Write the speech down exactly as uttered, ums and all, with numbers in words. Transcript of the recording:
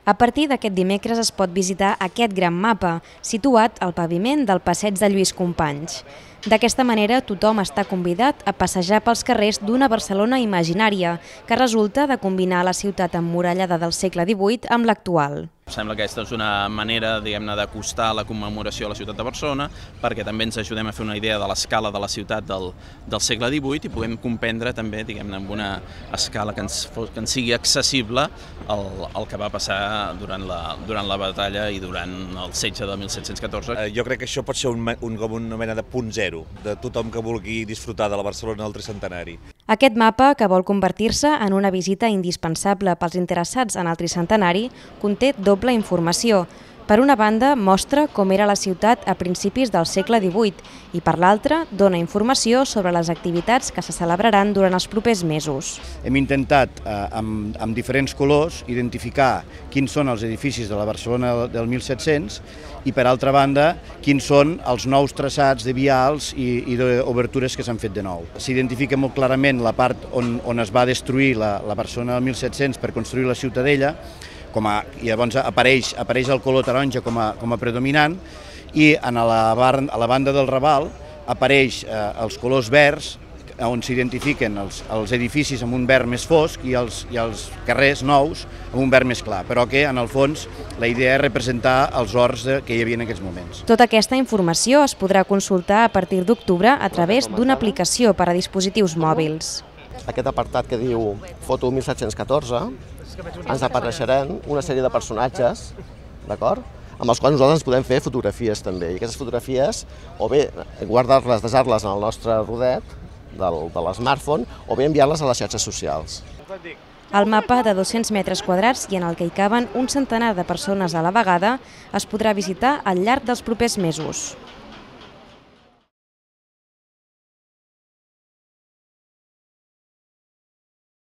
A partir d'aquest dimecres es pot visitar aquest gran mapa, situat al paviment del passeig de Lluís Companys. D'aquesta manera, tothom està convidat a passejar pels carrers d'una Barcelona imaginària, que resulta de combinar la ciutat emmurallada del segle divuit amb l'actual. Sembla que aquesta és una manera, diguem-ne, d'acostar la commemoració a la ciutat de Barcelona, perquè també ens ajudem a fer una idea de l'escala de la ciutat del, del segle divuit i puguem comprendre també, diguem-ne, amb una escala que ens, que ens sigui accessible el, el que va passar durant la, durant la batalla i durant el setge de mil set-cents catorze. Jo crec que això pot ser un, un, com una mena de punt zero de tothom que vulgui disfrutar de la Barcelona del tricentenari. Aquest mapa, que vol convertir-se en una visita indispensable pels interessats en el tricentenari, conté doble informació. Per una banda, mostra com era la ciutat a principis del segle divuit i per l'altra, dona informació sobre les activitats que se celebraran durant els propers mesos. Hem intentat, eh, amb, amb diferents colors, identificar quins són els edificis de la Barcelona del mil set-cents i, per altra banda, quins són els nous traçats de vials i, i d'obertures que s'han fet de nou. S'identifica molt clarament la part on, on es va destruir la, la Barcelona del mil set-cents per construir la Ciutadella, com a, i llavors apareix, apareix el color taronja com a, com a predominant, i en la, bar, a la banda del Raval apareix eh, els colors verds, on s'identifiquen els, els edificis amb un verd més fosc i els, i els carrers nous amb un verd més clar, però que en el fons la idea és representar els horts de, que hi havia en aquests moments. Tota aquesta informació es podrà consultar a partir d'octubre a través d'una aplicació per a dispositius mòbils. Aquest apartat que diu Foto mil set-cents catorze ens apareixeran una sèrie de personatges, d'acord? Amb els quals nosaltres ens podem fer fotografies també. I aquestes fotografies, o bé guardar-les, desar-les en el nostre rodet del, de l'smartphone, o bé enviar-les a les xarxes socials. El mapa de dos-cents metres quadrats i en el que hi caben un centenar de persones a la vegada es podrà visitar al llarg dels propers mesos.